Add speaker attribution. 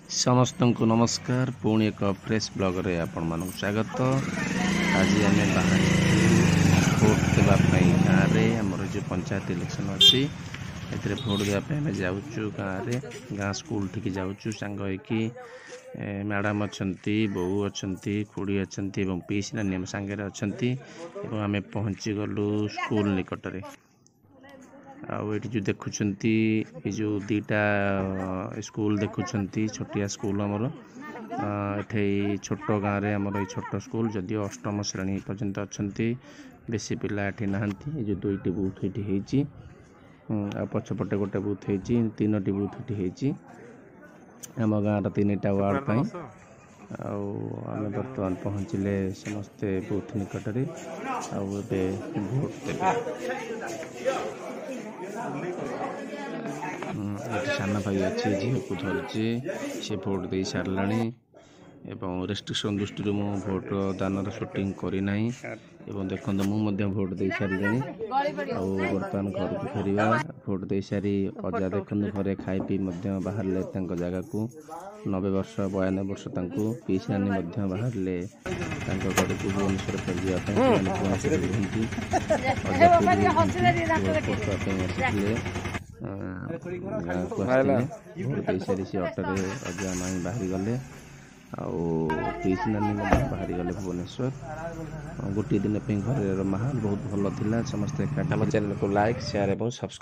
Speaker 1: ସମସ୍ତଙ୍କୁ ନମସ୍କାର। ପୁଣି ଏକ ଫ୍ରେଶ୍ ବ୍ଲଗ୍ରେ ଆପଣମାନଙ୍କୁ ସ୍ୱାଗତ। ଆଜି ଆମେ ବାହାରିଛୁ ଭୋଟ ଦେବା ପାଇଁ ଗାଁରେ। ଆମର ଯେଉଁ ପଞ୍ଚାୟତ ଇଲେକ୍ସନ୍ ଅଛି, ଏଥିରେ ଭୋଟ ଦେବା ପାଇଁ ଆମେ ଯାଉଛୁ ଗାଁରେ, ଗାଁ ସ୍କୁଲଠିକି ଯାଉଛୁ ସାଙ୍ଗ ହେଇକି। ମ୍ୟାଡ଼ାମ୍ ଅଛନ୍ତି, ବୋଉ ଅଛନ୍ତି, ଖୁଡ଼ି ଅଛନ୍ତି ଏବଂ ପିଇସି ନାନୀ ଆମ ସାଙ୍ଗରେ ଅଛନ୍ତି ଏବଂ ଆମେ ପହଞ୍ଚିଗଲୁ ସ୍କୁଲ ନିକଟରେ। ଆଉ ଏଇଠି ଯେଉଁ ଦେଖୁଛନ୍ତି, ଏ ଯେଉଁ ଦୁଇଟା ସ୍କୁଲ ଦେଖୁଛନ୍ତି, ଛୋଟିଆ ସ୍କୁଲ ଆମର ଏଠି। ଛୋଟ ଗାଁରେ ଆମର ଏଇ ଛୋଟ ସ୍କୁଲ, ଯଦିଓ ଅଷ୍ଟମ ଶ୍ରେଣୀ ପର୍ଯ୍ୟନ୍ତ ଅଛନ୍ତି, ବେଶୀ ପିଲା ଏଠି ନାହାନ୍ତି। ଏ ଯେଉଁ ଦୁଇଟି ବୁଥ୍ ଏଠି ହେଇଛି ଆଉ ପଛପଟେ ଗୋଟେ ବୁଥ୍ ହେଇଛି, ତିନୋଟି ବୁଥ୍ ଏଠି ହେଇଛି ଆମ ଗାଁର ତିନିଟା ୱାର୍ଡ଼ ପାଇଁ। ଆଉ ଆମେ ବର୍ତ୍ତମାନ ପହଞ୍ଚିଲେ ସମସ୍ତେ ବୁଥ୍ ନିକଟରେ ଆଉ ଏବେ ଭୋଟ ଦେବେ। ଏଠି ସାନ ଭାଇ ଅଛି, ଝିଅକୁ ଧରିଛି, ସେ ଭୋଟ ଦେଇ ସାରିଲାଣି ଏବଂ ରେଷ୍ଟ୍ରିକ୍ସନ୍ ଦୃଷ୍ଟିରୁ ମୁଁ ଭୋଟ ଦାନର ସୁଟିଂ କରିନାହିଁ। ଏବଂ ଦେଖନ୍ତୁ, ମୁଁ ମଧ୍ୟ ଭୋଟ ଦେଇ ସାରିଲିଣି ଆଉ ବର୍ତ୍ତମାନ ଘରକୁ ଫେରିବା। ଭୋଟ ଦେଇସାରି ଅଜା ଦେଖନ୍ତୁ ଘରେ ଖାଇ ପିଇ ମଧ୍ୟ ବାହାରିଲେ ତାଙ୍କ ଜାଗାକୁ। 90 ବର୍ଷ, 92 ବର୍ଷ ତାଙ୍କୁ। ପିଇସି ନାନୀ ମଧ୍ୟ ବାହାରିଲେ ତାଙ୍କ ଘରକୁ ଭୁବନେଶ୍ୱର ଫେରିଯିବା ପାଇଁ। ସେମାନେ ଭୁବନେଶ୍ୱରରେ ରୁହନ୍ତି। ଅଜା ପୁରୀ ଭୋଟ ଦେବା ପାଇଁ ଆସିଥିଲେ, ଗାଁକୁ ଆସିଥିଲେ। ଭୋଟ ଦେଇସାରି ସେ ଅଟୋରେ ଅଜା ମାଇଁ ବାହାରିଗଲେ ଆଉ ପିଇସି ନାନୀ ମଧ୍ୟ ବାହାରିଗଲେ ଭୁବନେଶ୍ୱର ଗୋଟିଏ ଦିନ ପାଇଁ। ଘରେର ମାହୋଲ ବହୁତ ଭଲ ଥିଲା, ସମସ୍ତେ ଏକାଠି। ଆମ ଚ୍ୟାନେଲକୁ ଲାଇକ୍, ସେୟାର ଏବଂ ସବସ୍କ୍ରାଇବ୍।